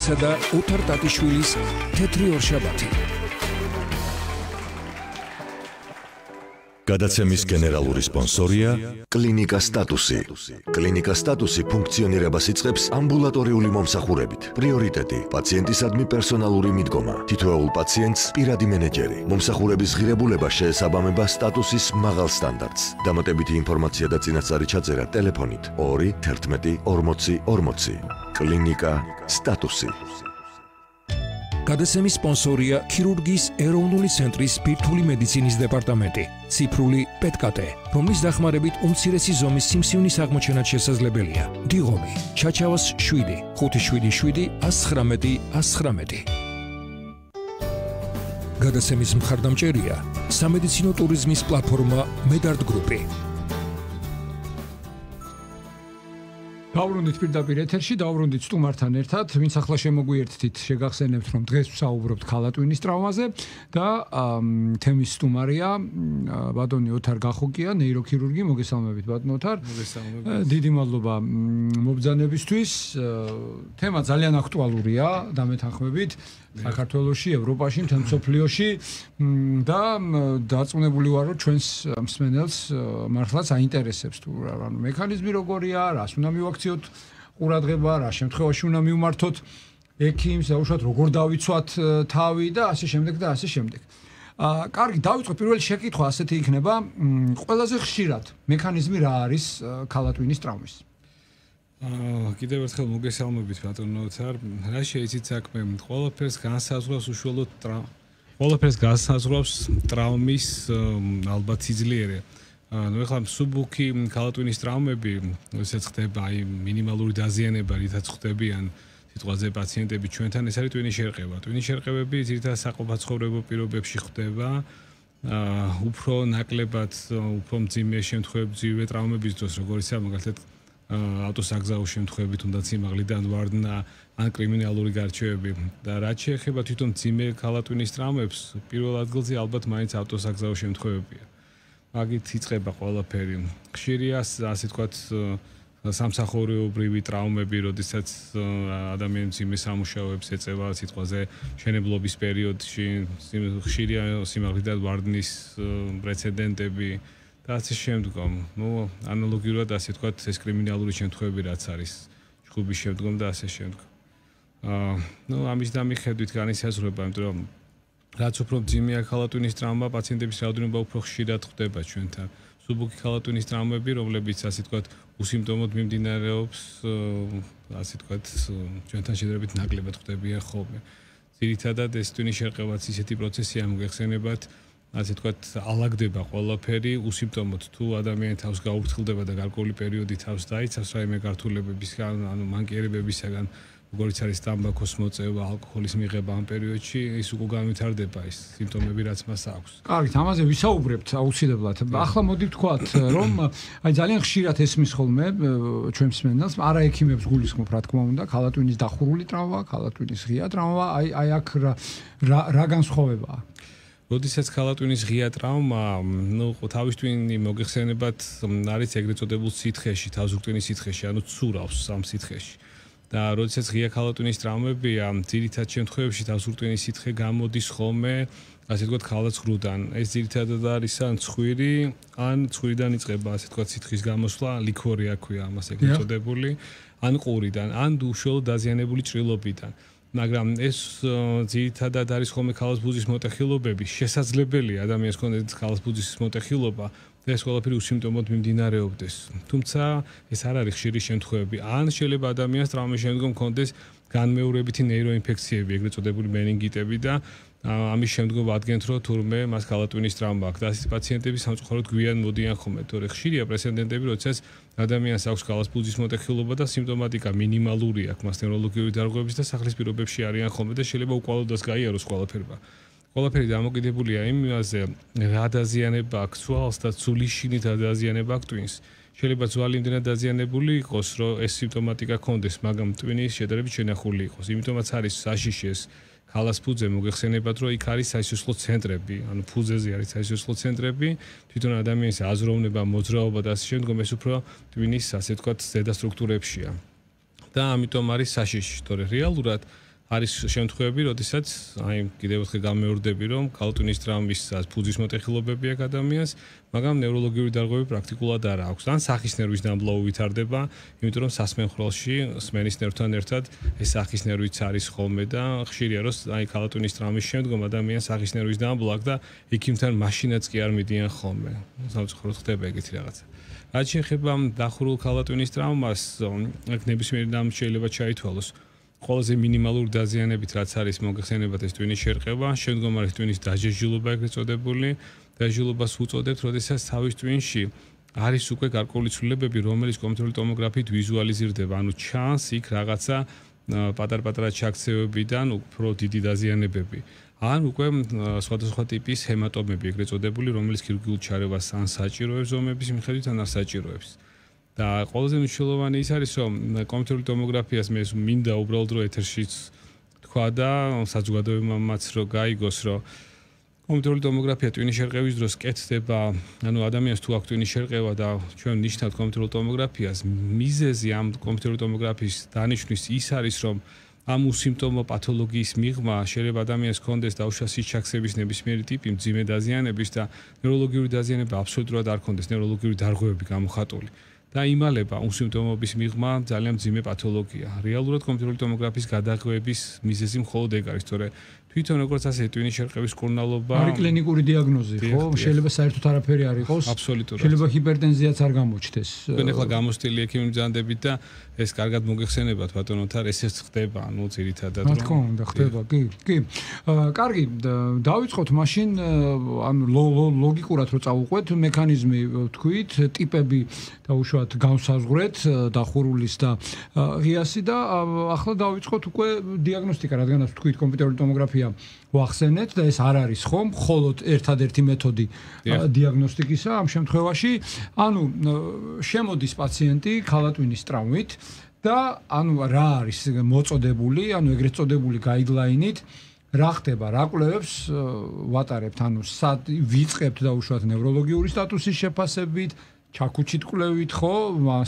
აბერტსა და ოთარ ტატიშვილის თეთრი ორშაბათი. გადაცემის გენერალური სპონსორია კლინიკა სტატუსი. კლინიკა სტატუსი ფუნქციონირებას იწყებს ამბულატორიული მომსახურებით. პრიორიტეტი პაციენტისადმი პერსონალური მიდგომა. თითოეულ პაციენტს პირადი მენეჯერი. მომსახურების ღირებულება შეესაბამება სტატუსის მაღალ სტანდარტს. დამატებითი ინფორმაცია და წინასწარი ჩაწერა ტელეფონით 2 11 40 40. კლინიკა სტატუსი. გადაცემის სპონსორია ქირურგიის ეროვნული ცენტრის ბირთვული მედიცინის დეპარტამენტი, ციფრული პეტკატე, რომლის დახმარებით უმცირესი ზომის სიმსივნის აღმოჩენაც შესაძლებელია. დიღომი, ჩაჩავას 7 577 119 119. გადაცემის მხარდამჭერია სამედიცინო ტურიზმის პლატფორმა Medart Group-ი. დავბრუნდით პირდაპირ ეთერში, დავბრუნდით სტუმართან ერთად, ვინც ახლა შემოგვიერთდით, შეგახსენებთ, რომ დღეს ვსაუბრობთ ქალატვინის ტრავმაზე და თემის სტუმარია ბატონი ოთარ გახოკია, ნეიროქირურგი, მოგესალმებით ბატონ ოთარ. მოგესალმებით. დიდი მადლობა მობრძანებისთვის. თემა ძალიან აქტუალურია, დამეთანხმებით. საქართველოში, ევროპაში, მთელ მსოფლიოში და დარწმუნებული ვარ, რომ ჩვენს მსმენელს მართლაც აინტერესებს თუ ანუ მექანიზმი როგორია, რას უნდა მივაქციოთ ყურადღება, რა შემთხვევაში უნდა მივმართოთ ექიმს, უშუალოდ როგორ დავიცვათ თავი და ასე შემდეგ და ასე შემდეგ. კარგი, დავიწყოთ პირველი შეკითხვა ასეთი იქნება, ყველაზე ხშირად მექანიზმი რა არის ქალატვინის ტრავმის? კიდევ ერთხელ მოგესალმებით ბატონო ოთარ. რა შეიძლება საქმე ყველაფერს განსაზღვრავს უშუალოდ ყველაფერს განსაზღვრავს ტრავმის ალბათ სიძლიერე. ნუ ეხლა მსუბუქი ქალატვინის ტრავმები, როდესაც ხდება აი მინიმალური დაზიანება, რითაც ხდებიან სიტყვაზე პაციენტები ჩვენთან, ეს არის ტვინის შერყევა. ტვინის შერყევები ძირითადად საყოფაცხოვრებო პირობებში ხდება. უფრო ნაკლებად, უფრო მძიმე შემთხვევებში, ძვირ ტრავმების დროს, როგორიცაა მაგალითად ავტოსაგზაო შემთხვევები, თუნდაც სიმაღლიდან ვარდნა ან კრიმინალური გარჩევები და რაც შეეხება თვითონ მძიმე ქალატვინის ტრავმებს, პირველ ადგილზე ალბათ მაინც ავტოსაგზაო შემთხვევებია. მაგით იწყება ყველაფერი. ხშირია, ასე ვთქვათ, სამსახურეობრივი ტრავმები, როდესაც ადამიანი მძიმე სამუშაოებს ეწევა სიტყვაზე მშენებლობის პერიოდში, ხშირია სიმაღლიდან ვარდნის პრეცედენტები და ასე შემდგომ. ნუ ანალოგიურად ასე ვთქვათ, ეს კრიმინალური შემთხვევები რაც არის ჯგუფის შემდგომ და ასე შემდგომ. ნუ ამის დამიხედვით განისაზღვრება, იმიტომ რომ რაც უფრო მძიმეა ქალატვინის ტრავმა, პაციენტების რაოდენობა უფრო ხშირად ხდება ჩვენთან. მსუბუქი ქალატვინის ტრავმები, რომლებიც ასე ვთქვათ, უსიმპტომოდ მიმდინარეობს, ასე ვთქვათ, ჩვენთან შედარებით ნაკლებად ხდებიან ხოლმე. ძირითადად ეს ტვინის შერყევაც ისეთი პროცესია, მოგეხსენებათ, ასე ვთქვათ, ალაგდება ყველაფერი უსიმპტომოდ თუ ადამიანი თავს გაუფრთხილდება და გარკვეული პერიოდი თავს დაიცავს რაიმე გართულებებისგან, ანუ მანკიერებებისგან, როგორც არის ტამბაქოს მოწევა, ალკოჰოლის მიღება ამ პერიოდში, ის უკვე განვითარდება ის სიმპტომები, რაც მას აქვს. კარგით, ამაზე ვისაუბრებთ აუცილებლად. ახლა მოდი ვთქვათ, რომ აი ძალიან ხშირად ესმის ხოლმე ჩვენ მსმენელს, არა ექიმებს გულისხმობ, რა თქმა უნდა, ქალატვინის დახურული ტრავმა, ქალატვინის ღია ტრავმა, აი აქ რა განსხვავებაა? როდესაც ქალატვინის ღია ტრავმა, ნუ თავის ტვინი მოგეხსენებათ, არის ეგრეთ წოდებულ სითხეში, თავზურტვინის სითხეში, ანუ ცურავს ამ სითხეში. და როდესაც ღია ქალატვინის ტრავმებია, ძირითად შემთხვევებში თავზურტვინის სითხე გამოდის ხოლმე, ასე ვთქვათ, ქალაცღრუდან. ეს ძირითადად არის ან ცხვირი, ან ცხვირიდან იწყება, ასე ვთქვათ, სითხის გამოსვლა, ლიქორი აქვია ამას ეგრეთ წოდებული, ან ყურიდან, ან უშუალოდ დაზიანებული ჭრილობიდან. მაგრამ ეს ძირითადად არის ხოლმე ქალასბუძის მოტეხილობები, შესაძლებელია ადამიანს ქონდეს ქალასბუძის მოტეხილობა და ეს ყველაფერი უსიმპტომოდ მიმდინარეობდეს. თუმცა ეს არ არის ხშირი შემთხვევები. ან შეიძლება ადამიანს ტრავმის შემდგომ ქონდეს განმეორებითი ნეიროინფექციები, ეგრეთ წოდებული მენინგიტები და ამის შემდგომ ადგენთ, რომ თურმე მას ქალატვინის ტრავმა აქვს და ასეთი პაციენტები სამწუხაროდ გვიან მოდიან ხოლმე, თორე ხშირია პრეცედენტები, როდესაც ადამიანს აქვს ქალასბუძის მოტეხილობა და სიმპტომატიკა მინიმალური აქვს მას ნევროლოგიური დარღვევების და სახლის პირობებში არიან ხოლმე და შეიძლება უკვალოდას გაიაროს ყველაფერმა. ყველაფერი დამოკიდებულია იმაზე, რა დაზიანება აქვს ცვალს და ცულის შინით რა დაზიანება აქვს ტვინს. შეიძლება ძვალი იმდენად დაზიანებული იყოს, რომ ეს სიმპტომატიკა ქონდეს, მაგრამ ტვინის შედარებით შენახული იყოს. იმიტომაც არის საშიშეს ქალას ფუძე მოგეხსენებათ, რომ იქ არის საისოსლო ცენტრები, ანუ ფუძეზე არის საისოსლო ცენტრები, თვითონ ადამიანის აზროვნება, მოძრაობა და ასე შემდგომ ეს უფრო ტვინის, ასე ვთქვათ, ზედა სტრუქტურებშია. და ამიტომ არის საშიში, თორე რეალურად არის შემთხვევები, როდესაც აი კიდევ ერთხელ გამეორდები, რომ ქალატვინის ტრამვის ფუძის მოტეხილობები აქვს ადამიანს, მაგრამ ნევროლოგიური დარღვევები პრაქტიკულად არ აქვს. ან სახის ნერვის დამბლავა ვითარდება, იმიტომ რომ სასმენხრალში სმენის ნერვთან ერთად ეს სახის ნერვიც არის ხოლმე და ხშირია რომ აი ქალატვინის ტრამვის შემდგომ ადამიანს სახის ნერვის დამბლავა აქვს და იქიმთან მაშინაც კი არ მიდიან ხოლმე. სამწუხაროდ ხდება ეგეთი რაღაცა. რაც შეეხება დახურულ ქალატვინის ტრამვას, აქ ნებისმიერი რამ შეიძლება ჩაითვალოს. ყველაზე მინიმალური დაზიანებით რაც არის მოგეხსენებათ ეს ტვინის შერყება, შემდგომ არის ტვინის დაჟეჟილობა ეგრეთ წოდებული, დაჟეჟილობას უწოდებთ, როდესაც თავის ტვინში არის უკვე გარკვეული ცვლილებები, რომელიც კომპიუტერული ტომოგრაფიით ვიზუალიზირდება, ანუ ჩანს იქ რაღაცა პატარ-პატარა ჩაქცევებიდან უფრო დიდი დაზიანებები. ან უკვე სხვადასხვა ტიპის ჰემატომები ეგრეთ წოდებული, რომელიც ქირურგიულ ჩარევას ან საჭიროებს ზომების მიხედვით, ან არ საჭიროებს. და ყველაზე მნიშვნელოვანი ის არის, რომ კომპიუტერული ტომოგრაფიას მე მინდა უბრალოდ რომ ეთერშიც თქვა და საზოგადოებამაც რომ გაიგოს, რომ კომპიუტერული ტომოგრაფია ტვინის შერყევის დროს კეთდება, ანუ ადამიანს თუ აქვს ტვინის შერყევა და ჩვენ ნიშნავთ კომპიუტერულ ტომოგრაფიას, მიზეზი ამ კომპიუტერული ტომოგრაფიის დანიშვნის ის არის, რომ ამ უსიმპტომო პათოლოგიის მიღმა შეიძლება ადამიანს ჰქონდეს დაუშვას სიჩაქცევის ნებისმიერი ტიპი, მძიმე დაზიანების და ნევროლოგიური დაზიანება აბსოლუტურად არ ჰქონდეს, ნევროლოგიური დარღვევები გამოხატული. და იმალება უსიმპტომობის მიღმა ძალიან მძიმე პათოლოგია. რეალურად კომპიუტერული ტომოგრაფიის გადაღვევების მიზეზი მხოლოდ ეგ არის, თორე თვითონ როგორც ასე ტვინის შერყევის კურნალობა არის კლინიკური დიაგნოზი, ხო? შეიძლება საერთოდ არაფერი არ იყოს. აბსოლუტურად. შეიძლება ჰიპერტენზიაც არ გამოჩნდეს. თქვენ ახლა გამოსტილი ექიმი მზადებით და ეს კარგად მოგეხსენებათ ბატონო თარ, ესეც ხდება, ანუ ძირითადად რა თქმა უნდა ხდება, კი, კი. კარგი, დავიწყოთ მაშინ, ანუ ლოგიკურად რო წავუყვეთ, მექანიზმი თქვით, ტიპები დაუშვათ განსაზღვრეთ, დახურულის და ღიასი და ახლა დავიწყოთ უკვე დიაგნოსტიკა, რადგანაც თქვით კომპიუტერული ტომოგრაფია ვახსენეთ და ეს არ არის ხომ მხოლოდ ერთადერთი მეთოდი დიაგნოსტიკისა ამ შემთხვევაში, ანუ შემოდის პაციენტი ქალატვინის ტრამვით და ანუ რა არის მოწოდებული, ანუ ეგრეთ წოდებული გაიდლაინით რა ხდება, რა კვლევებს ვატარებთ, ანუ ვიწყებთ დაუშვათ ნევროლოგიური სტატუსის შეფასებით, ჩაქუჩით კვლევით, ხო,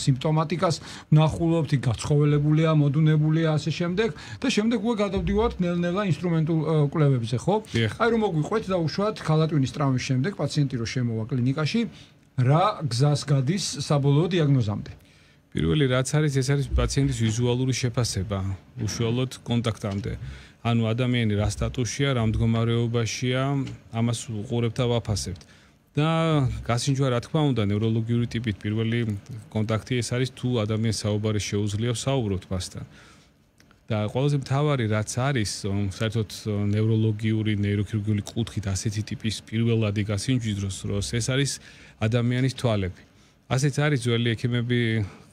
სიმპტომატიკას ვნახულობთ, გაცხოველებულია, მოდუნებულია, ასე შემდეგ და შემდეგ უკვე გადავდივართ ნელ-ნელა ინსტრუმენტულ კვლევებზე, ხო? აი რომ მოგვიყვეთ დაუშვათ ქალატვინის ტრამვის შემდეგ პაციენტი რო შემოვა კლინიკაში, რა გზას გადის საბოლოო დიაგნოზამდე? პირველი რაც არის, ეს არის პაციენტის ვიზუალური შეფასება, უშუალოდ კონტაქტამდე. ანუ ადამიანი რა სტატუსშია, რა მდგომარეობაშია, ამას უყურებთ და ვაფასებთ. და გასინჯვა რა თქმა უნდა ნევროლოგიური ტიპით პირველი კონტაქტი ეს არის თუ ადამიანს საუბარი შეუძლია საუბრობთ მასთან. და ყველაზე მთავარი რაც არის, საერთოდ ნევროლოგიური, ნეიროქირურგიული კუთხით ასეთი ტიპის პირველადი გასინჯვის დროს ეს არის ადამიანის თვალები. ასეც არის ძველი ექიმები,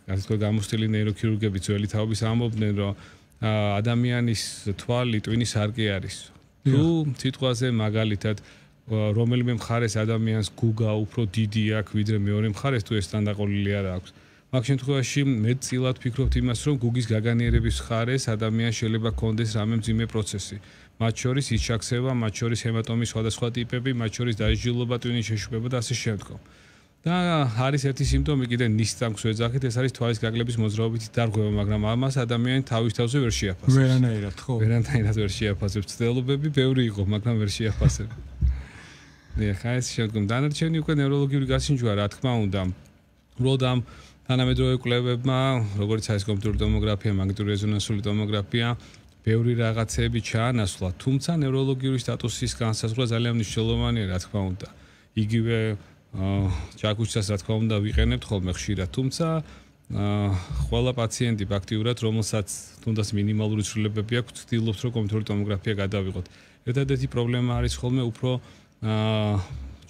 ასე თქვა გამოსტილი ნეიროქირურგები ძველი თაობის ამბობდნენ, რომ ადამიანის თვალი ტვინის არკე არის. თუ სიტყვაზე მაგალითად რომელიმე მხარეს ადამიანს გუგა უფრო დიდი აქვს ვიდრე მეორე მხარეს თუ ეს თანდაყოლილი არ აქვს. მაგ შემთხვევაში მეტწილად ფიქრობთ იმას, რომ გუგის გაგანიერების მხარეს ადამიანს შეიძლება ჰქონდეს რამე მძიმე პროცესი. მათ შორის ის ჩაქცევა, მათ შორის ჰემატომის სხვადასხვა ტიპები, მათ შორის დაჟილობა, ტვინის შეშუპება და ასე შემდგომ. და არის ერთი სიმპტომი კიდე ნისწამს ვეძახით, ეს არის თვალის გაგლების მოძრაობითი დარღვევა, მაგრამ ამას ადამიანი თავის თავზე ვერ შეაფასებს. ვერანაირად, ხო? ვერანაირად ვერ შეაფასებს. ცდილობები ბევრი იყო, მაგრამ ვერ შეაფასებს. ხა ეს შემდგომ დანარჩენი უკვე ნევროლოგიური გასინჯვა რა თქმა უნდა. უბრალოდ ამ თანამედროვე კვლევებმა, როგორც არის კომპიუტერული ტომოგრაფია, მაგნიტური რეზონანსული ტომოგრაფია, ბევრი რაღაცები ჩაანაცვლა, თუმცა ნევროლოგიური სტატუსის განსაზღვრა ძალიან მნიშვნელოვანია რა თქმა უნდა. იგივე ჩაქუჩას რა თქმა უნდა ვიყენებთ ხოლმე ხშირად, თუმცა ყველა პაციენტი ფაქტიურად, რომელსაც თუნდაც მინიმალური ცვლილებები აქვს, ცდილობს რომ კომპიუტერული ტომოგრაფია გადავიღოთ. ერთადერთი პრობლემა არის ხოლმე უფრო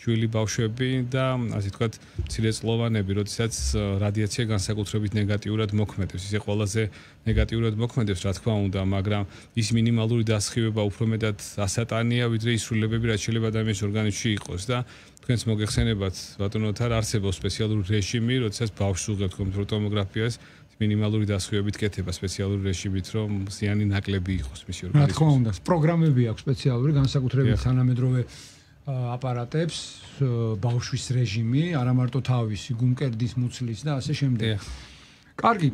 ჩვილი ბავშვები და ასე ვთქვათ, მცირეწლოვანები, როდესაც რადიაცია განსაკუთრებით ნეგატიურად მოქმედებს. ისე ყველაზე ნეგატიურად მოქმედებს, რა თქმა უნდა, მაგრამ ის მინიმალური დასხივება უფრო მეტად ასატანია, ვიდრე ის ცვლილებები, რაც შეიძლება ადამიანის ორგანიზმში იყოს და თქვენს მოგეხსენებათ, ბატონო თარ არსებობს სპეციალური რეჟიმი, როდესაც ბავშვს უღებთ კომპიუტერულ ტომოგრაფიას, მინიმალური დასხივებით კეთება სპეციალური რეჟიმით, რომ ზიანი ნაკლები იყოს მისი ორგანიზმის. რა თქმა უნდა, პროგრამები აქვს სპეციალური განსაკუთრებით თანამედროვე აპარატებს, ბავშვის რეჟიმი, არა მარტო თავისი, გულმკერდის მუცლის და ასე შემდეგ. კარგი,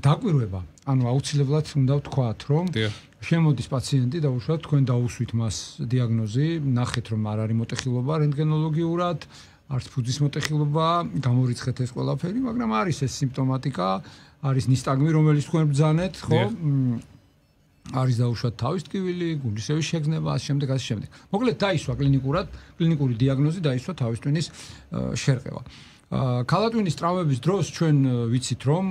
დაკვირვება. ანუ აუცილებლად უნდა ვთქვათ, რომ შემოდის პაციენტი და უშუალოდ თქვენ დაუსვით მას დიაგნოზი, ნახეთ რომ არ არის მოტეხილობა რენტგენოლოგიურად, არც ფუძის მოტეხილობა, გამორიცხეთ ეს ყველაფერი, მაგრამ არის ეს სიმპტომატიკა, არის ნისტაგმი, რომელიც თქვენ ბრძანეთ, ხო? არის დაუშვათ თავის ტკივილი, გულისევის შეგრძნება, ასე შემდეგ, ასე შემდეგ. მოკლედ დაისვა კლინიკური დიაგნოზი დაისვა თავის ტვინის შერყევა. ქალატვინის ტრავმების დროს ჩვენ ვიცით რომ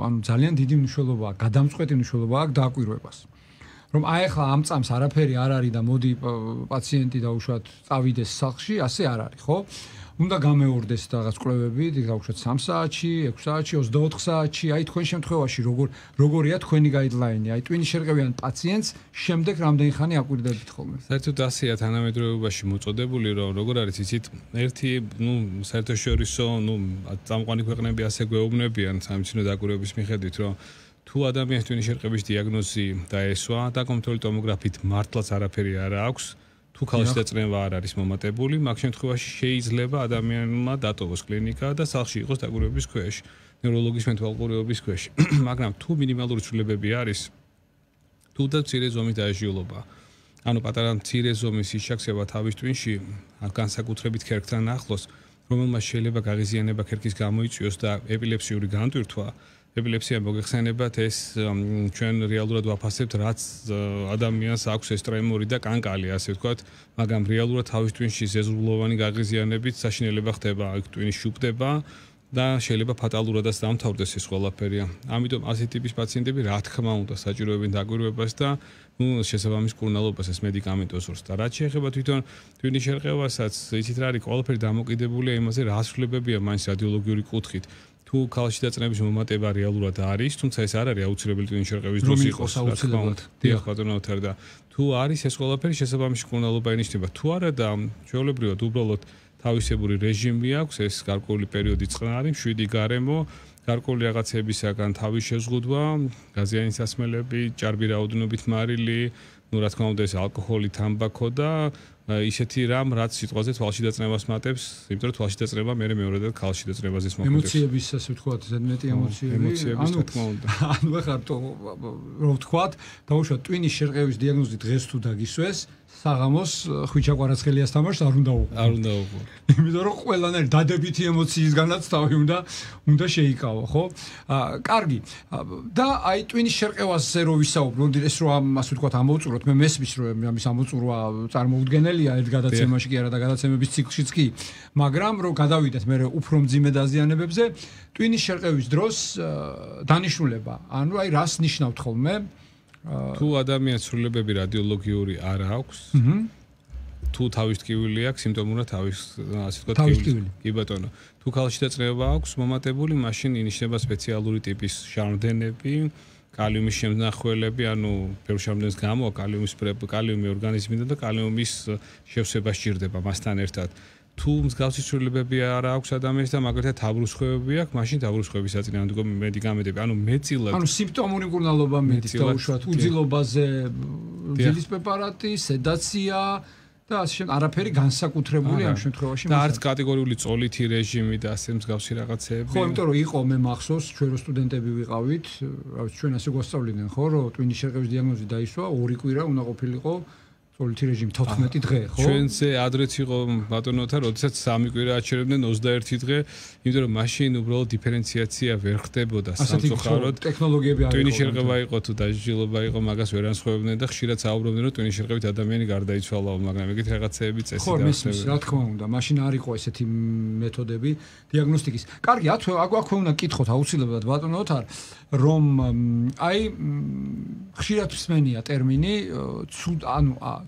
ანუ ძალიან დიდი მნიშვნელობა აქვს, გადამწყვეტი მნიშვნელობა აქვს დაკვირვებას. რომ აი ახლა ამ წამს არაფერი არ არის და მოდი პაციენტი დაუშვათ წავიდეს სახლში, ასე არ არის, ხო? უნდა გამეორდეს რაღაც კვლევები, დაუშვათ 3 საათში, 6 საათში, 24 საათში, აი თქვენ შემთხვევაში როგორია თქვენი გაიდლაინი, აი ტვინის შერყევიან პაციენტს შემდეგ რამდენი ხანი აკვირდებით ხოლმე? საერთოდ ასეა თანამედროვეობაში მოწოდებული, რომ როგორ არის იცით, ერთი, საერთაშორისო, წამყვანი ქვეყნები ასე გვეუბნებიან სამედიცინო დაკვირვების მიხედვით, რომ თუ ადამიანის ტვინის შერყევის დიაგნოზი დაესვა და კომპიუტერული ტომოგრაფით მართლაც არაფერი არ აქვს, თუ ქალში დაწნევა არ არის მომატებული, მაგ შემთხვევაში შეიძლება ადამიანმა დატოვოს კლინიკა და სახლში იყოს დაკვირვების ქვეშ, ნევროლოგის მეთვალყურეობის ქვეშ. მაგრამ თუ მინიმალური ცვლილებები არის, თუ და მცირე ზომის დაჟიულობა, ანუ პატარა მცირე ზომის ისჩაქსება თავის ტვინში, განსაკუთრებით ქერქთან ახლოს, რომელმაც შეიძლება გაღიზიანება ქერქის გამოიწვიოს და ეპილეფსიური განტვირთვა, ეპილეფსია მოგეხსენებათ ეს ჩვენ რეალურად ვაფასებთ რაც ადამიანს აქვს ეს ტრემორი და კანკალი ასე ვთქვათ, მაგრამ რეალურად თავის ტვინში ზეზღულოვანი გაღიზიანებით საშინელება ხდება, ტვინი შუპდება და შეიძლება ფატალურადაც დამთავრდეს ეს ყველაფერი. ამიტომ ასეთი ტიპის პაციენტები რა თქმა უნდა საჭიროებენ დაკვირვებას და შესაბამის მკურნალობას ეს მედიკამენტოზურს და რაც შეეხება თვითონ ტვინის შერყევასაც, იცით რა არის, ყველაფერი დამოკიდებულია იმაზე, რა ცვლილებებია მაინც რადიოლოგიური კუთხით. თუ ქალში დაწნევის მომატება რეალურად არის, თუმცა ეს არ არის აუცილებელი ტვინის შერყევის დროს იყოს აუცილებლად. დიახ, ბატონო თარ და თუ არის ეს ყველაფერი შესაბამისი მკურნალობა ენიშნება. თუ არა და ჩვეულებრივად უბრალოდ თავისებური რეჟიმი აქვს, ეს გარკვეული პერიოდი წყნარი, მშვიდი გარემო, გარკვეული რაღაცებისაგან თავის შეზღუდვა, გაზიანის სასმელები, ჭარბი რაოდენობით მარილი, რა თქმა უნდა ეს ალკოჰოლი, თამბაქო და ისეთი რამ, რაც სიტყვაზე თვალში დაწნევას მატებს, იმიტომ რომ თვალში დაწნევა მეორედ ქალში დაწნევაზეც მოქმედებს. ემოციების ასე ვთქვათ, ზედმეტი ემოციების რა თქმა უნდა. ანუ ახლა რო ვთქვათ, დაუშვათ ტვინის შერყევის დიაგნოზი დღეს თუ დაგისვეს, საღამოს ხვიჩა კვარაცხელიას თამაშს არ უნდა უყო. არ უნდა უყო. იმიტომ რომ ყველანაირი დადებითი ემოციისგანაც თავი უნდა შეიკავო, ხო? კარგი. და აი ტვინის შერყევაზე რო ვისაუბროთ, ეს რო ასე ვთქვათ ამოვწუროთ, მე მესმის რომ ამის ამოწურვა წარმოუდგენელია ერთ გადაცემაში კი არა და გადაცემების ციკლშიც კი, მაგრამ რო გადავიდეთ მე უფრო მძიმე დაზიანებებზე, ტვინის შერყევის დროს დანიშნულება, ანუ აი რას ნიშნავთ ხოლმე? თუ ადამიანს ცვლილებები რადიოლოგიური არ აქვს, თუ თავის ტკივილი აქვს, სიმპტომურად თავის ასე ვთქვათ ტკივილი. კი ბატონო. თუ ქალში დაწნევა აქვს მომატებული, მაშინ ინიშნება სპეციალური ტიპის ჟარდენები, კალიუმის შემნახველები, ანუ ბევრ შარდენს გამო კალიუმი ორგანიზმიდან და კალიუმის შევსება სჭირდება მასთან ერთად. თუ მსგავსი ცვლილებები არ აქვს ადამიანს და მაგალითად თავბრუსხვევები აქვს, მაშინ თავბრუსხვევის საწინააღმდეგო მედიკამენტები, ანუ მეტწილად. ანუ სიმპტომური მკურნალობა მიდის დაუშვათ უძილობაზე, ძილის პრეპარატი, სედაცია და ასე შემდეგ, არაფერი განსაკუთრებული ამ შემთხვევაში და არც კატეგორიული წოლითი რეჟიმი და ასე მსგავსი რაღაცეები. ხო, იმიტომ რომ იყო მე მახსოვს, ჩვენ რო სტუდენტები ვიყავით, რა ვიცი, ჩვენ ასე გვასწავლიდნენ, ხო, რომ ტვინის შერყევის დიაგნოზი დაისვა, 2 კვირა უნდა ყოფილიყო წოლითი რეჟიმი 14 დღე, ხო? ჩვენზე ადრეც იყო ბატონოთა, როდესაც 3 კვირა აჩერებდნენ 21 დღე, იმიტომ რომ მაშინ უბრალოდ დიფერენციაცია ვერ ხდებოდა სამწუხაროდ. ტექნოლოგიები არ იყო. ტვინის შერყევა იყო თუ დაჟილობა იყო, მაგას ვერ ანსხვავებდნენ და ხშირად საუბრობდნენ, რომ ტვინის შერყევით ადამიანი გარდაიცვალაო, მაგრამ ეგეთ რაღაცეები წესი და ხო, რა თქმა უნდა, მაშინ არ იყო ესეთი მეთოდები დიაგნოსტიკის. კარგი, აქვე უნდა კითხოთ აუცილებლად ბატონოთ, რომ აი ხშირად მსმენია ტერმინი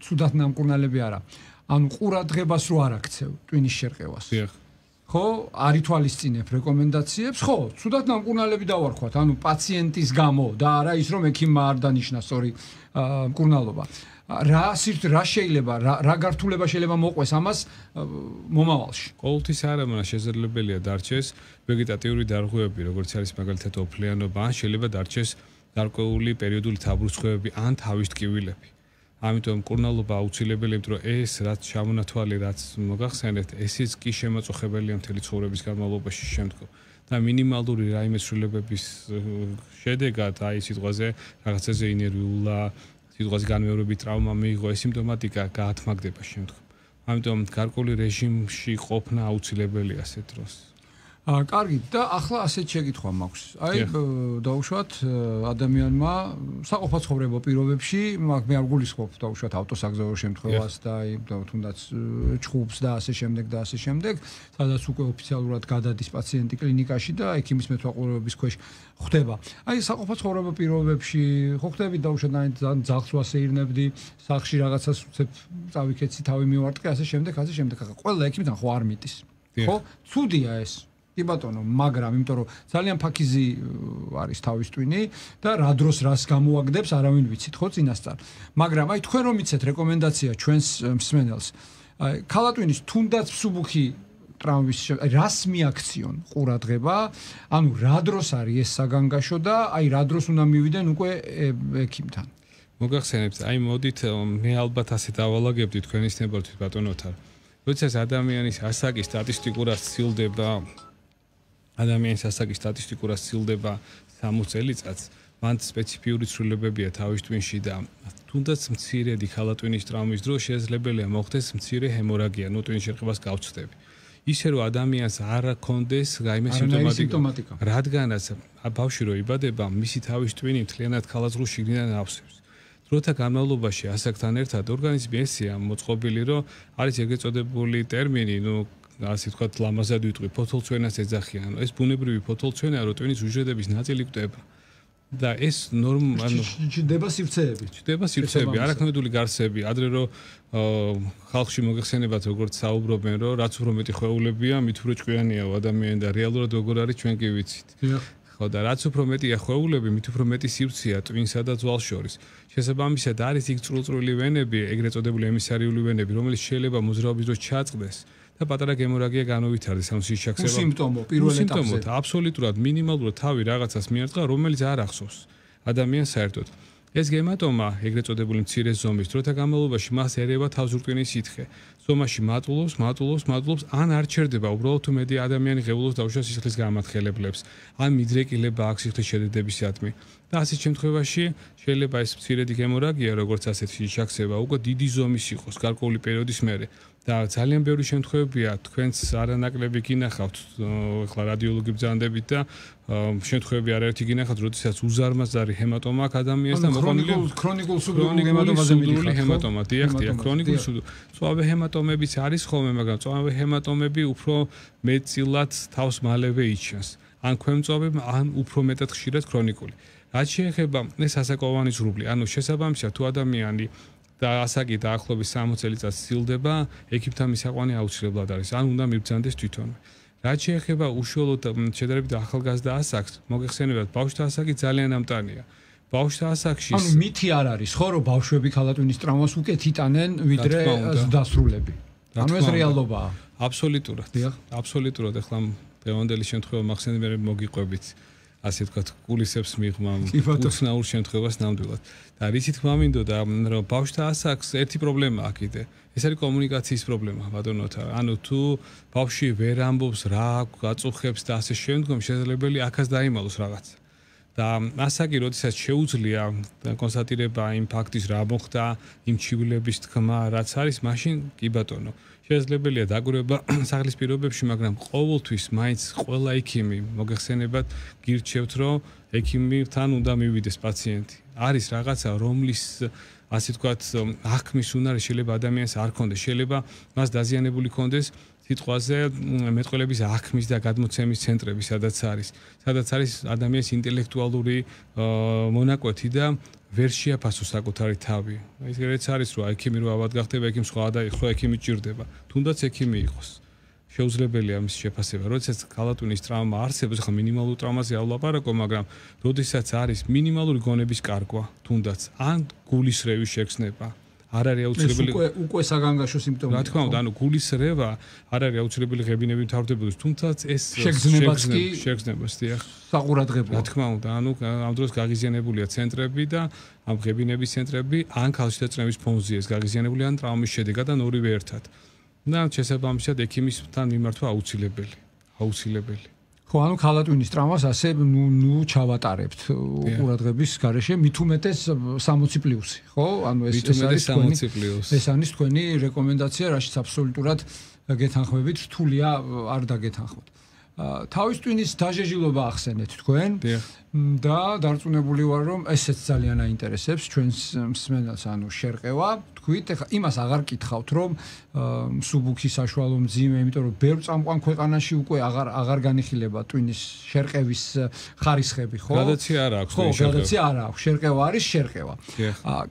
ცუდად ნამკურნალები არა. ანუ ყურადღებას რო არ აქცევ ტვინის შერყევას. ხო, არ ითვალისწინებ რეკომენდაციებს, ხო, ცუდად ნამკურნალები დავარქვათ, ანუ პაციენტის გამო და არა ის რომ ექიმმა არ დანიშნა სწორი მკურნალობა. რა შეიძლება რა გართულება შეიძლება მოყვეს ამას მომავალში? ყოველთვის არა, მაგრამ შესაძლებელია დარჩეს ვეგეტატიური დარღვევები, როგორც არის მაგალითად ოფლიანობა, ან შეიძლება დარჩეს გარკვეული პერიოდული თავბრუსხვევები ან თავის ტკივილები. ამიტომ მკურნალობა აუცილებელია, იმიტომ რომ ეს რაც ჩამონათვალი, რაც მოგახსენეთ, ესეც კი შემაწუხებელია მთელი ცხოვრების განმავლობაში შემდგომ. და მინიმალური რაიმე ცვლილებების შედეგად აი სიტყვაზე რაღაცაზე ინერვიულა სიტყვაზე განმეორებით ტრავმა მიიღო ეს სიმპტომატიკა გაათმაგდება შემდგომ. ამიტომ გარკვეული რეჟიმში ყოფნა აუცილებელია ასეთ დროს. კარგი და ახლა ასეთ შეკითხვა მაქვს. აი დაუშვათ ადამიანმა საყოფაცხოვრებო პირობებში მე არ გულისხმობ დაუშვათ ავტოსაგზაურო შემთხვევას და აი თუნდაც ჩხუბს და ასე შემდეგ და ასე შემდეგ, სადაც უკვე ოფიციალურად გადადის პაციენტი კლინიკაში და ექიმის მეთვალყურეობის ქვეშ ხდება. აი საყოფაცხოვრებო პირობებში ხო ხდები დაუშვათ ძალიან ძაღლს ვასეირნებდი, სახლში რაღაცას უცებ წავიქეცი, თავი მივარტყე, ასე შემდეგ. ყველა ექიმთან ხო არ მიტის. ხო? ცუდია ეს. კი ბატონო, მაგრამ იმიტომ რომ ძალიან ფაქიზი არის თავის ტვინი და რა დროს რას გამოაგდებს, არავინ ვიცით, ხო, წინასწარ. მაგრამ აი თქვენ რომ იცეთ რეკომენდაცია ჩვენს მსმენელს, აი ქალატვინის თუნდაც მსუბუქი ტრავმის რას მიაქციონ ყურადღება, ანუ რა დროს არის ეს საგანგაშო და აი რა დროს უნდა მივიდენ უკვე ექიმთან. მოგახსენებთ, აი მოდით მე ალბათ ასე დავალაგებდი თქვენის ნებართვით ბატონოთან. როდესაც ადამიანის ასაკი სტატისტიკურად სცილდება ადამიანის ასაკი სტატისტიკურად სცილდება 60 წელიწადს, მან სპეციფიური ცვლილებებია თავის ტვინში და თუნდაც მცირედი ხალატვინის ტრავმის დროს შესაძლებელია მოხდეს მცირე ჰემორაგია, ნუ ტვინის შერყებას გავწვდები. ისე რომ ადამიანს არ ჰქონდეს რაიმე სიმპტომატიკა, რადგანაც ბავშვი რო იბადება, მისი თავის ტვინი მთლიანად ხალატს შიგნიდან ავსებს. დროთა განმავლობაში ასაკთან ერთად ორგანიზმი ესეა მოწყობილი, რომ არის ეგრეთ წოდებული ტერმინი, ნუ ასე ვთქვათ, ლამაზად ვიტყვი, ფოთოლცვენას ეძახიან. ეს ბუნებრივი ფოთოლცვენაა, რომ ტვინის უჯრედების ნაწილი კვდება. და ეს ჩდება სივრცეები, არაქმედული გარსები, ადრე რომ ხალხში მოგეხსენებათ როგორც საუბრობენ, რომ რაც უფრო მეტი ხვეულებია, მით უფრო ჭკვიანია ადამიანი და რეალურად როგორ არის ჩვენ კი ვიცით. ხო და რაც უფრო მეტია ხვეულები, მით უფრო მეტი სივრცეა ტვინსა და ძვალს შორის. შესაბამისად არის იქ წრულწრული ვენები, ეგრეთ წოდებული ემისარიული ვენები, რომელიც შეიძლება მოძრაობის დროს ჩაწყდეს და პატარა გემორაგია განუვითარდეს ამ სიშაქსება. სიმპტომო პირველ ეტაპზე. აბსოლუტურად მინიმალურად თავი რაღაცას მიარტყა, რომელიც არ ახსოვს ადამიანს საერთოდ. ეს გემატომა, ეგრეთ წოდებული მცირე ზომის, დროთა განმავლობაში მას ერევა თავზურტყინის სითხე. ზომაში მატულობს, ან არ ჩერდება, უბრალოდ თუ მეტი ადამიანი ღებულობს დაუშვათ სისხლის გამათხელებლებს, ან მიდრეკილება აქვს სიხლის შედედებისადმი. და ასეთ შემთხვევაში შეიძლება ეს მცირედი გემორაგია, როგორც ასეთი შაქსება, უკვე დიდი ზომის იყოს გარკვეული პერიოდის მერე. და ძალიან ბევრი შემთხვევებია, თქვენც არანაკლები გინახავთ, ახლა რადიოლოგი ბრძანდებით და შემთხვევები არაერთი გინახავთ, როდესაც უზარმაზარი ჰემატომა აქვს ადამიანს და მოყოლილი ქრონიკულ სუდურული ჰემატომაზე მიდიხარ. ჰემატომა, დიახ, ქრონიკული სუდურული. წვავე ჰემატომებიც არის ხოლმე, მაგრამ წვავე ჰემატომები უფრო მეტწილად თავს მალევე იჩენს. ან ქვემწვავე, ან უფრო მეტად ხშირად ქრონიკული. რაც შეეხება ეს ასაკოვანი ზრუბლი, ანუ შესაბამისად თუ ადამიანი და ასაკი დაახლოებით 60 წელიწადს სცილდება, ექიმთან მისაყვანი აუცილებლად არის, ან უნდა მიბრძანდეს თვითონვე. რაც შეეხება უშუალოდ შედარებით ახალგაზრდა ასაკს, მოგეხსენებათ, ბავშვთა ასაკი ძალიან ამტანია. ბავშვთა ასაკში ანუ მითი არ არის, ხო, რომ ბავშვები ხალატვინის ტრავმას უკეთ იტანენ, ვიდრე დასრულები. ანუ ეს რეალობაა. აბსოლუტურად, ახლა დღევანდელი შემთხვევა მახსენებია მოგიყვებით. ასე ვთქვათ, გულისებს მიღმა უცნაურ შემთხვევას ნამდვილად. და რითი თქმა მინდოდა, რომ ბავშვთა ასაკს ერთი პრობლემაა კიდე. ეს არის კომუნიკაციის პრობლემა, ბატონოთა. ანუ თუ ბავშვი ვერ ამბობს რა აწუხებს და ასე შემდგომ, შესაძლებელი აქაც დაიმალოს რაღაცა. და ასაკი, როდესაც შეუძლია კონსტატირება იმ ფაქტის რა მოხდა, იმ ჩივლების თქმა, რაც არის, მაშინ კი ბატონო. შესაძლებელია დაკვირვება სახლის პირობებში, მაგრამ ყოველთვის მაინც ყველა ექიმი მოგეხსენებათ, გირჩევთ, რომ ექიმთან უნდა მივიდეს პაციენტი. არის რაღაცა, რომლის ასე ვთქვათ, აღქმის უნარი შეიძლება ადამიანს არ ქონდეს, შეიძლება მას დაზიანებული ქონდეს სიტყვაზე მეტყველების აღქმის და გადმოცემის ცენტრები, სადაც არის ადამიანის ინტელექტუალური მონაკვეთი და ვერ შეაფასოს საკუთარი თავი. ისედაც არის, რომ ექიმი რო ავად გახდება, ექიმს სხვა და ხო ექიმი ჭირდება. თუნდაც ექიმი იყოს. შეუძლებელია მის შეფასება. როდესაც ხალატვინის ტრავმა არსებობს, ხა მინიმალურ ტრავმაზე ავლაპარაკო, მაგრამ როდესაც არის მინიმალური გონების კარგვა, თუნდაც ან გულისრევის შეგრძნება, არ არის აუცილებელი უკვე საგანგაშო სიმპტომები. რა თქმა უნდა, ანუ გულისრევა არ არის აუცილებელი ღებინები მთავრდებოდეს, თუმცა ეს შეგრძნებას დიახ. საყურადღებოა. რა თქმა უნდა, ანუ ამ დროს გაღიზიანებულია ცენტრები და ამ ღებინების ცენტრები ან ქალშეწრების ფონზია ეს გაღიზიანებული ან ტრავმის შედეგად ან ორივე ერთად. და შესაბამისად ექიმისთან მიმართვა აუცილებელი. ხო, ანუ ქალატვინის ტრავმას ასე ნუ ჩავატარებთ ყურადღების გარეშე, მით უმეტეს 60+, ხო? ანუ ეს არის თქვენი რეკომენდაცია, რაშიც აბსოლუტურად გეთანხმებით, რთულია არ დაგეთანხმოთ. თავის ტვინის დაჟეჟილობა ახსენეთ თქვენ და დარწმუნებული ვარ, რომ ესეც ძალიან აინტერესებს ჩვენს მსმენელს, ანუ შერყევა. თქვით, ეხლა იმას აღარ კითხავთ, რომ მსუბუქი საშუალო მძიმე, იმიტომ რომ ბევრ წამყვან ქვეყანაში უკვე აღარ განიხილება ტვინის შერყევის ხარისხები, ხო? გადაცია არ აქვს. ხო, გადაცია არ აქვს. შერყევა არის შერყევა.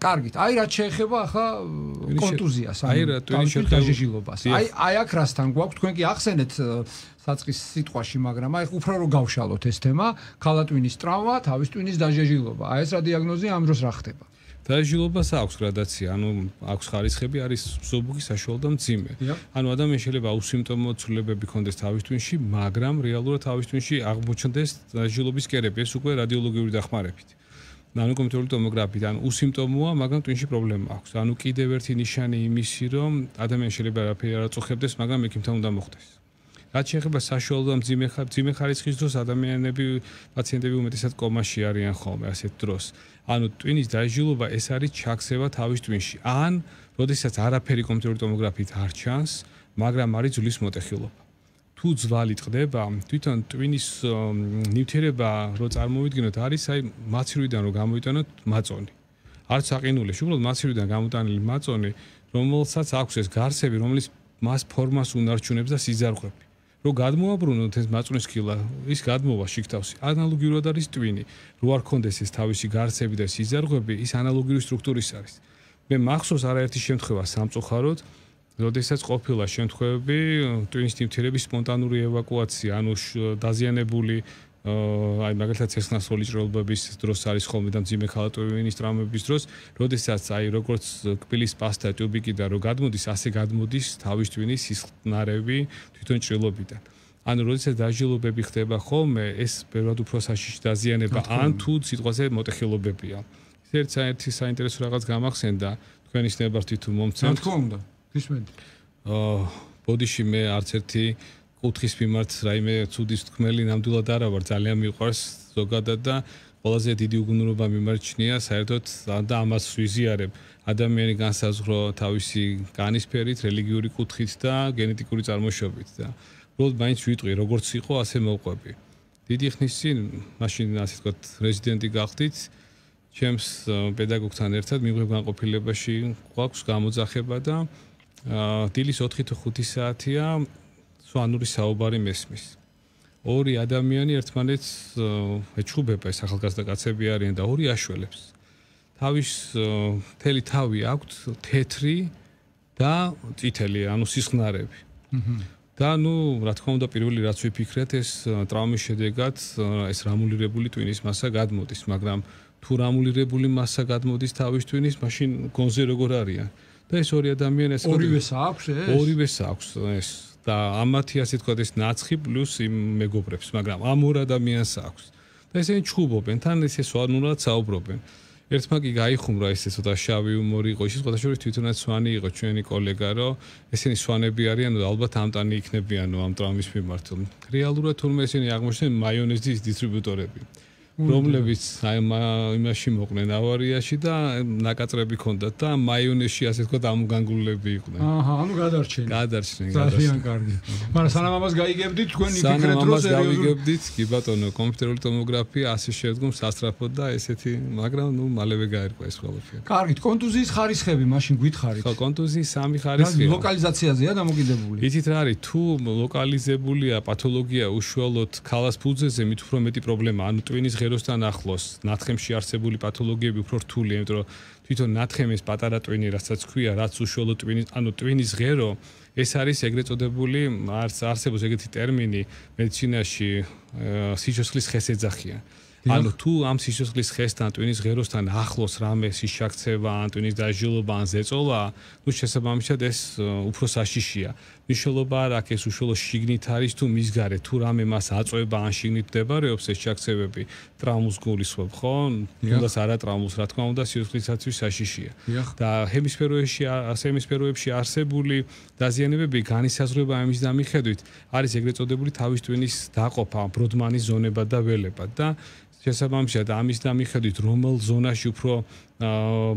კარგით, აი რაც შეეხება ახლა კონტუზიას, ანუ ტვინის დაჟეჟილობას. აი აქ რასთან გვაქვს, თქვენ კი ახსენეთ საწყის სიტყვაში, მაგრამ აი უფრო რომ გავშალოთ ეს თემა, ქალატვინის ტრავმა, თავის ტვინის დაჟეჟილობა. აი ეს რა დიაგნოზია, ამ დროს რა ხდება? დაჟილობას აქვს გრადაცია, ანუ აქვს ხარისხები, არის მსუბუქი, საშუალო და მძიმე. ანუ ადამიანს შეიძლება უსიმპტომო ცვლილებები ჰქონდეს თავის ტვინში, მაგრამ რეალურად თავის ტვინში აღმოჩნდეს დაჟილობის კერები, ეს უკვე რადიოლოგიური დახმარებით. ანუ კომპიუტერული ტომოგრაფით, ანუ უსიმპტომოა, მაგრამ ტვინში პრობლემა აქვს. ანუ კიდევ ერთი ნიშანი იმისი, რომ ადამიანს შეიძლება არაფერი არ აწუხებდეს, მაგრამ ექიმთან უნდა მოხვდეს. რაც შეეხება საშუალო და მძიმე ხარისხის დროს ადამიანები, პაციენტები უმეტესად კომაში არიან ხოლმე ასეთ დროს. ანუ ტვინის დაჟილობა ეს არის ჩაქცევა თავის ტვინში. ან როდესაც არაფერი კომპიუტერული ტომოგრაფით არ ჩანს, მაგრამ არის ძვლის მოტეხილობა. თუ ძვალი ტყდება, თვითონ ტვინის ნივთიერება რო წარმოვიდგინოთ, არის აი მაცირვიდან რო გამოიტანოთ მაწონი. არც აყინულეში, უბრალოდ მაცირვიდან გამოტანილი მაწონი, რომელსაც აქვს ეს გარსები, რომელიც მას ფორმას უნარჩუნებს და სიზარღვები. რო გადმოაბრუნოთ ეს მაწვნის სქილა, ის გადმოვა შიგთავსი. ანალოგიურად არის ტვინი. რო არ კონდეს ეს თავისი გარსები და სიზარღვები, ის ანალოგიური სტრუქტურის არის. მე მახსოვს არაერთი შემთხვევა სამწუხაროდ, როდესაც ყოფილა შემთხვევები ტვინის ნივთიერების სპონტანური ევაკუაცია, ანუ დაზიანებული აი მაგალითად ცეცხლსასროლი ჭრილობების დროს არის ხოლმე და მძიმე ქალატვინის ტრავმების დროს, როდესაც აი როგორც კბილის პასტა ტუბიკი და რო გადმოდის, ასე გადმოდის თავის ტვინის სისხლნარევი თვითონ ჭრილობიდან. ანუ როდესაც დაჟილობები ხდება ხოლმე, ეს ბევრად უფრო საშიში დაზიანება, ან თუ სიტყვაზე მოტეხილობებია. ერთი საინტერესო რაღაც გამახსენდა, თქვენი ნებართვით თუ მომცემთ. რა თქმა უნდა, გისმენთ. ბოდიში მე არც ერთი კუთხის მიმართ რაიმე ცუდის თქმელი ნამდვილად არა ვარ, ძალიან მიყვარს ზოგადად და ყველაზე დიდი უგუნურობა მიმარჩნია საერთოდ და ამას ვიზიარებ. ადამიანი განსაზღვრო თავისი განისფერით, რელიგიური კუთხით და გენეტიკური წარმოშობით და უბრალოდ მაინც ვიტყვი, როგორც იყო, ასე მოვყვები. დიდი ხნის წინ, მაშინ ასე ვთქვათ, რეზიდენტი გახდით, ჩემს პედაგოგთან ერთად მიიღო განყოფილებაში გვაქვს გამოძახება და დილის 4 თუ 5 საათია სვანური საუბარი მესმის. ორი ადამიანი ერთმანეთს ეჩხუბება, ეს ახალგაზრდა კაცები არიან და ორი აშველებს. თავის მთელი თავი აქვთ თეთრი და წითელი, ანუ სისხლნარევი. და ნუ რა თქმა უნდა პირველი რაც ვიფიქრეთ, ეს ტრავმის შედეგად ეს რამულირებული ტვინის მასა გადმოდის, მაგრამ თუ რამულირებული მასა გადმოდის თავის ტვინის, მაშინ გონზე როგორ არიან? და ეს ორი ადამიანი ეს ორივეს აქვს ეს? ორივეს აქვს ეს. და ამათი ასე თქვა ეს ნაცხი პლუს იმ მეგობრებს, მაგრამ ამ ორ ადამიანს აქვს. და ესენი ჩხუბობენ, თან ესე სვანურად საუბრობენ. ერთმა კი გაიხუმრა ესე ცოტა შავი უმორი იყო, ის შესაძლოა თვითონაც სვანი იყო ჩვენი კოლეგა, რომ ესენი სვანები არიან და ალბათ ამტანი იქნებიანო ამ ტრავმის მიმართ. რეალურად თურმე ესენი აღმოჩნდნენ მაიონეზის დისტრიბუტორები. რომლებიც იმაში მოყვნენ ავარიაში და ნაკაწრები ჰქონდათ და მაიონეზში ასე თქვა ამგანგულები იყვნენ. აჰა, ანუ გადარჩნენ. ძალიან კარგი. მაგრამ სანამ ამას გაიგებდით, თქვენ იფიქრეთ რომ გავიგებდით, კი ბატონო, კომპიუტერული ტომოგრაფია ასე შედგომს სასწრაფოდ და ესეთი, მაგრამ ნუ მალევე გაერკვა ეს ყველაფერი. კარგით, კონტუზიის ხარისხები მაშინ გითხარით. ხო, კონტუზიის 3 ხარისხია. ლოკალიზაციაზეა დამოკიდებული. იცით რა არის, თუ ლოკალიზებულია პათოლოგია უშუალოდ ქალას ფუძეზე, მით უფრო მეტი პრობლემა, ანუ ტვინის ღეროსთან ახლოს, ნათხემში არსებული პათოლოგიები უფრო რთულია, იმიტომ რომ თვითონ ნათხემის პატარა ტვინი, რასაც ქვია, რაც უშუალოდ ტვინის, ანუ ტვინის ღერო, ეს არის ეგრეთ წოდებული, არსებობს ეგეთი ტერმინი მედიცინაში, სიცოცხლის ხესეძახია. ანუ თუ ამ სიცოცხლის ხესთან, ტვინის ღეროსთან ახლოს რამე სიშაქცევა, ან ტვინის დაჟილობა, ან ზეწოლა, ნუ შესაბამისად ეს უფრო საშიშია. მნიშვნელობა არ აქვს ეს უშუალო შიგნით არის თუ მის გარეთ, თუ რამე მას აწვება ან შიგნით მდებარეობს ეს შაქცევები, ტრაუმს გულისხმობ, ხო? თუნდაც არა ტრაუმს, რა თქმა უნდა, სიცოცხლისაცვის საშიშია. და ჰემისფეროებში არსებული დაზიანებები განისაზღვრება ამის და მიხედვით არის ეგრეთ წოდებული თავის ტვინის დაყოფა, ბროდმანის ზონება და ველება და შესაბამისად ამის და მიხედვით რომელ ზონაში უფრო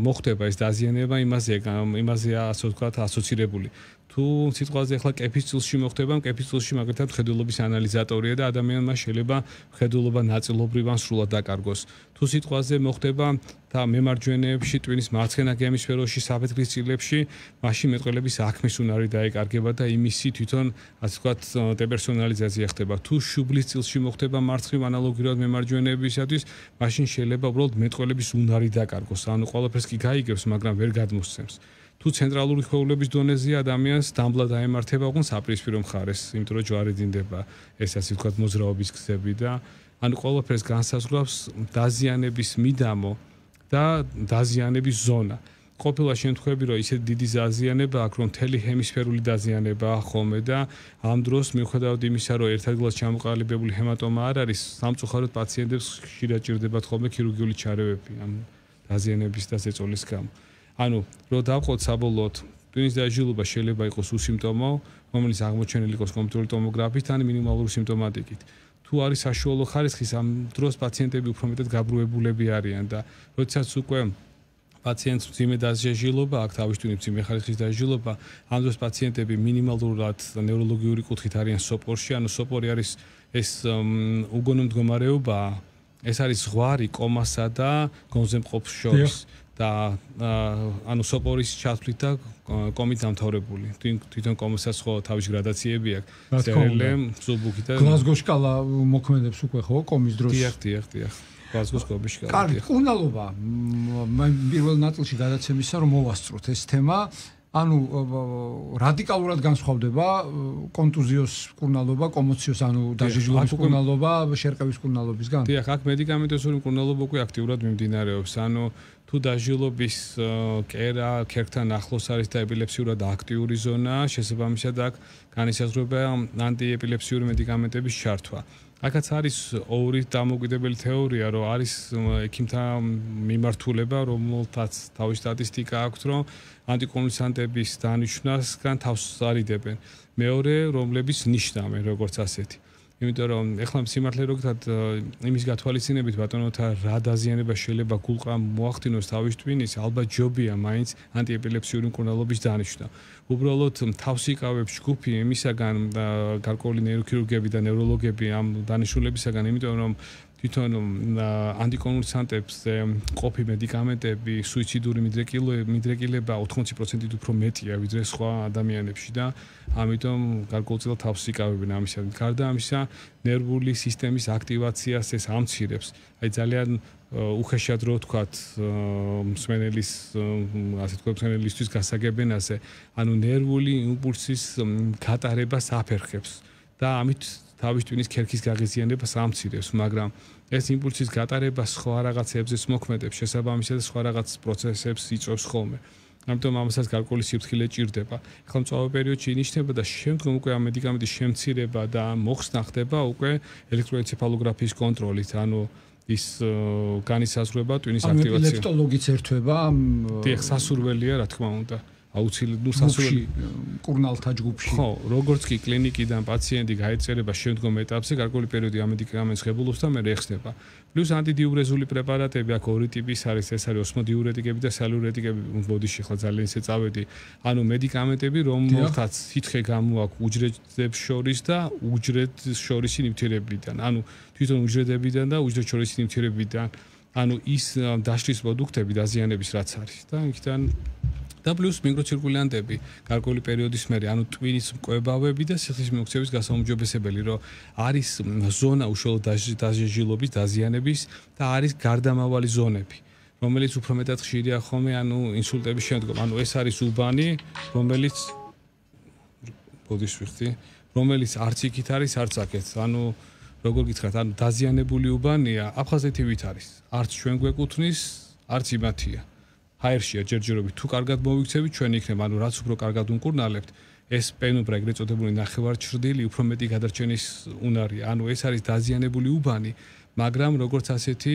მოხდება ეს დაზიანება, იმაზეა ასე ვთქვათ ასოცირებული. თუ სიტყვაზე ახლა კეფის წილში მოხდება, კეფის წილში მაგალითად მხედველობის ანალიზატორია და ადამიანმა შეიძლება მხედველობა ნაწილობრივ ან სრულად დაკარგოს. თუ სიტყვაზე მოხდება და მემარჯვენეებში, ტვინის მარცხენა ჰემისფეროში, საფეთქლის წილებში, მაშინ მეტყველების აქმის უნარი დაეკარგება და იმისი თვითონ ასე ვთქვათ დეპერსონალიზაცია ხდება. თუ შუბლის წილში მოხდება მარცხნივ ანალოგიურად მემარჯვენეებისათვის, მაშინ შეიძლება უბრალოდ მეტყველების უნარი დაკარგოს. ანუ ყველაფერს კი გაიგებს, მაგრამ ვერ გადმოსცემს. თუ ცენტრალური ქსოვილების დონეზეა ადამიანს დამბლა დაემართება უკვე საპირისპირო მხარეს, იმიტომ რომ ჯვარი დინდება, ეს ასე ვთქვათ მოძრაობის გზები და ანუ ყველაფერს განსაზღვრავს დაზიანების მიდამო და დაზიანების ზონა. ყოფილა შემთხვევები, რომ ისეთ დიდი დაზიანება აქვს, რომ მთელი ჰემისფერული დაზიანებაა ხოლმე და ამ დროს მიუხედავად იმისა, რომ ერთადღაც ჩამოყალიბებული ჰემატომა არ არის, სამწუხაროდ პაციენტებს ხშირად ჭირდებათ ხოლმე ქირურგიული ჩარევები ამ დაზიანების და ზეწოლის გამო. ანუ რო დავყოთ საბოლოოდ ტვინის დაჟილობა შეიძლება იყოს უსიმპტომო, რომელიც აღმოჩენილი იყოს კომპიუტერული ტომოგრაფით ან მინიმალური სიმპტომატიკით. თუ არის საშუალო ხარისხის, ამ დროს პაციენტები უფრო მეტად გაბრუებულები არიან და როდესაც უკვე პაციენტს მძიმე დაჟილობა აქვს, თავის ტვინის მძიმე ხარისხის დაჟილობა, ამ დროს პაციენტები მინიმალურად ნევროლოგიური კუთხით არიან სოპორში, ანუ სოპორი არის ეს უგონო მდგომარეობა, ეს არის ზღვარი კომასა და გონზემყოფს შორის. და ანუ სოპორის ჩათვლით და კომით დამთავრებული. თვითონ კომასაც ხო თავის გრადაციები აქვს. CRLM, სუბუქი და გლაზგოს შკალა მოქმედებს უკვე ხო კომის დროს? დიახ. გლაზგოს კომის შკალა. კარგი, კურნალობა. პირველ ნაწილში გადაცემისა რომ მოვასწროთ ეს თემა. ანუ რადიკალურად განსხვავდება კონტუზიოს კურნალობა, კომოციოს ანუ დაჟილობის კურნალობა, შერყევის კურნალობისგან? დიახ, აქ მედიკამენტოზური კურნალობა უკვე აქტიურად მიმდინარეობს. ანუ თუ დაჟილობის კერა ქერქთან ახლოს არის და ეპილეფსიურად აქტიური ზონა, შესაბამისად აქ განისაზღვრება ანტიეპილეფსიური მედიკამენტების ჩართვა. აქაც არის ორი დამოუკიდებელი თეორია, რომ არის ექიმთა მიმართულება, რომელთაც თავის სტატისტიკა აქვს, რომ ანტიკონვულსანტების დანიშვნასგან თავს არიდებენ. მეორე, რომლებიც ნიშნავენ როგორც ასეთი. იმიტომ რომ ეხლა სიმართლე რო გითხრათ იმის გათვალისწინებით ბატონოთა რა დაზიანება შეიძლება გულყრამ მოახდინოს თავის ტვინის, ალბათ ჯობია მაინც ანტიეპილეფსიური მკურნალობის დანიშვნა. უბრალოდ თავს იკავებს ჯგუფი იმისაგან გარკვეული ნეიროქირურგები და ნევროლოგები ამ დანიშნულებისაგან, იმიტომ რომ თვითონ ანტიკონვულსანტებზე ყოფი მედიკამენტები სუიციდური მიდრეკილება 80%-ით უფრო მეტია ვიდრე სხვა ადამიანებში და ამიტომ გარკვეულწილად თავს იკავებენ ამისა. გარდა ამისა, ნერვული სისტემის აქტივაციას ეს ამცირებს. აი ძალიან უხეშად რო ვთქვათ მსმენელის ასე ვთქვათ მსმენელისთვის გასაგებენაზე, ანუ ნერვული იმპულსის გატარებას აფერხებს და ამით თავის ტვინის ქერქის გაღიზიანებას ამცირებს, მაგრამ ეს იმპულსის გატარება სხვა რაღაცებზეც მოქმედებს, შესაბამისად სხვა რაღაც პროცესებს იწვევს ხოლმე. ამიტომ ამასაც გარკვეული სიფრთხილე ჭირდება. ახლა მწვავე პერიოდში ინიშნება და შემდგომ უკვე ამ მედიკამენტის შემცირება და მოხსნა ხდება უკვე ელექტროენცეფალოგრაფიის კონტროლით, ანუ ის განისაზღვრება ტვინის აქტივაცია. ანუ ეპილეპტოლოგიც ერთვება? დიახ, სასურველია, რა თქმა უნდა. აუცილებლად სასურველი კურნალთა ჯგუფში. ხო, როგორც კი კლინიკიდან პაციენტი გაეწერება შემდგომ ეტაპზე, გარკვეული პერიოდი ამ მედიკამენტს ღებულობს და მერე ეხსნება. პლუს ანტიდიურეზული პრეპარატები აქ ორი ტიპის არის, ეს არის ოსმოდიურეტიკები და სალურეტიკები, ბოდიში ხლა ძალიან ისე წავედი. ანუ მედიკამენტები, რომელთაც სითხე გამოაქვს უჯრედებს შორის და უჯრედს შორისი ნივთიერებიდან. ანუ თვითონ უჯრედებიდან და უჯრედს შორისი ნივთიერებიდან. ანუ ის დაშლის პროდუქტები დაზიანების რაც არის და იქიდან და პლუს მიკროცირკულიანტები გარკვეული პერიოდის მერე, ანუ ტვინის მკვებავები და სიხლის მიმოქცევის გასაუმჯობესებელი, რომ არის ზონა უშუალო დაჟილობის, დაზიანების და არის გარდამავალი ზონები, რომელიც უფრო მეტად ხშირია ხოლმე, ანუ ინსულტების შემდგომ. ანუ ეს არის უბანი, რომელიც ბოდიში ვიხდი, რომელიც არც იქით არის, არც აქეთ. ანუ როგორ გითხრათ, ანუ დაზიანებული უბანია, აფხაზეთივით არის. არც ჩვენ გვეკუთვნის, არც იმათია. ჰაერშია ჯერჯერობით თუ კარგად მოვიქცევით, ჩვენ იქნება, ანუ რაც უფრო კარგად უმკურნალებთ, ეს პენუბრა ეგრეთ წოდებული ნახევარჩრდილი უფრო მეტი გადარჩენის უნარია. ანუ ეს არის დაზიანებული უბანი, მაგრამ როგორც ასეთი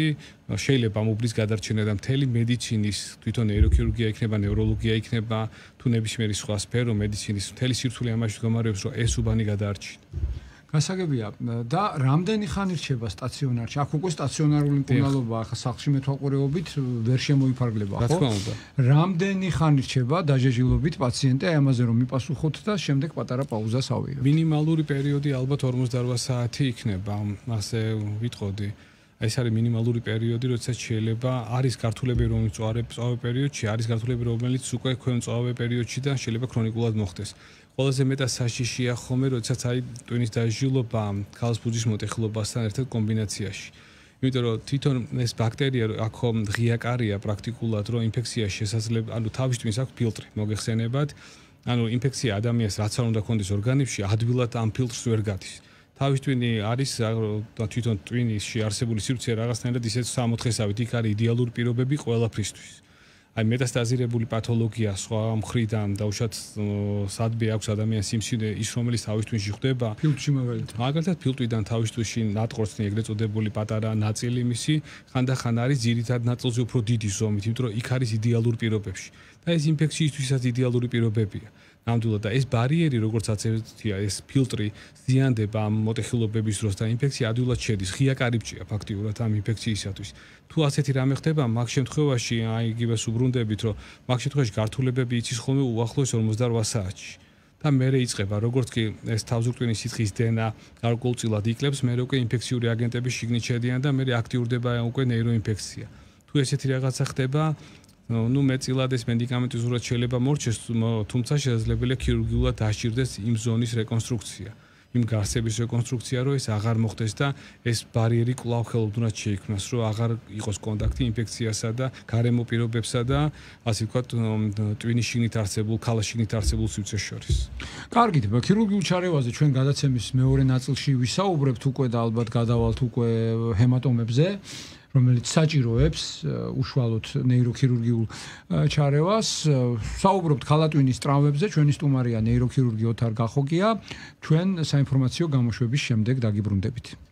შეიძლება უბნის გადარჩენა და მთელი მედიცინის, თვითონ ნეიროქირურგია იქნება, ნევროლოგია იქნება, თუ ნებისმიერი სხვა სფერო მედიცინის მთელი სირთულე ამაში მდგომარეობს, რომ ეს უბანი გადაარჩინა. გასაგებია და რამდენი ხანი რჩება სტაციონარში? აქ უკვე სტაციონარული მკურნალობა ახლა სახლში მეთვალყურეობით ვერ შემოიფარგლება, ხო? რა თქმა უნდა. რამდენი ხანი რჩება დაჟეჟილობით პაციენტი? აი ამაზე რომ მიპასუხოთ და შემდეგ პატარა პაუზას ავიღებთ. მინიმალური პერიოდი ალბათ 48 საათი იქნება, ასე ვიტყოდი. ეს არის მინიმალური პერიოდი, როდესაც შეიძლება არის გართულები რომელიც წვავე პერიოდში, არის გართულები რომელიც უკვე ქვემო წვავე პერიოდში და შეიძლება ქრონიკულად მოხდეს. ყველაზე მეტად საშიშია ხოლმე, როდესაც აი ტვინის დაჟილობა ქალს ფუძის მოტეხილობასთან ერთად კომბინაციაში. იმიტომ რომ თვითონ ეს ბაქტერია აქ ღია კარია პრაქტიკულად, რომ ინფექცია შესაძლებელი, ანუ თავის ტვინს აქვს ფილტრი, მოგეხსენებათ. ანუ ინფექცია ადამიანს რაც არ უნდა კონდეს ორგანიზმში, ადვილად ამ ფილტრს ვერ გადის. თავის ტვინი არის თვითონ ტვინისში არსებული სივრცე რაღაცნაირად ისეთ 64-ით იქ არის იდეალური პირობები ყველაფრისთვის. აი მეტასტაზირებული პათოლოგია სხვა მხრიდან დაუშვათ სადბე აქვს ადამიანს სიმსივნე ის რომელიც თავის ტვინში ხდება ფილტვში მოველით. მაგალითად ფილტვიდან თავის ტვინში ნატყორცნი ეგრეთ წოდებული პატარა ნაწილი მისი ხანდახან არის ძირითად ნაწილზე უფრო დიდი ზომით, იმიტომ რომ იქ არის იდეალურ პირობებში და ეს ინფექციისთვისაც იდეალური პირობებია. ნამდვილად და ეს ბარიერი როგორც აცეთია ეს ფილტრი ზიანდება ამ მოტეხილობების დროს და ინფექცია ადვილად შედის ღია კარიბჭეა ფაქტიურად ამ ინფექციისათვის თუ ასეთი რამე ხდება მაგ შემთხვევაში აი იგივეს უბრუნდებით რომ მაგ შემთხვევაში გართულებები იცის ხოლმე უახლოეს 48 საათში და მერე იწყება როგორც კი ეს თავზურტვინის სითხის დენა გარკვეულწილად იკლებს მერე უკვე ინფექციური აგენტები შიგნით შედიან და მერე აქტიურდება უკვე ნეიროინფექცია თუ ესეთი რაღაცა ხდება ну მეტწილად ეს მედიკამენტი ზურად შეიძლება მორჩეს, თუმცა შესაძლებელია ქირურგიულად დაჭირდეს იმ ზონის რეკონსტრუქცია, იმ გარსების რეკონსტრუქცია, რომ ეს აღარ მოხდეს და ეს ბარიერი კვლავ ხელოვნურად შეიქმნას, რომ აღარ იყოს კონტაქტი ინფექციასა და გარემო პირობებსა და ასე ვთქვათ, ტვინის შიგნით არსებულ, ქალის შიგნით არსებულ სივრცეს შორის. კარგით, ქირურგიულ ჩარევაზე ჩვენ გადაცემის მეორე ნაწილში ვისაუბრებთ უკვე და ალბათ გადავალთ უკვე ჰემატომებზე. რომელიც საჭიროებს უშუალოდ ნეიროქირურგიულ ჩარევას. საუბრობთ ქალატვინის ტრავმებზე, ჩვენი სტუმარია ნეიროქირურგი ოთარ გახოკია. ჩვენ საინფორმაციო გამოშვების შემდეგ დაგიბრუნდებით.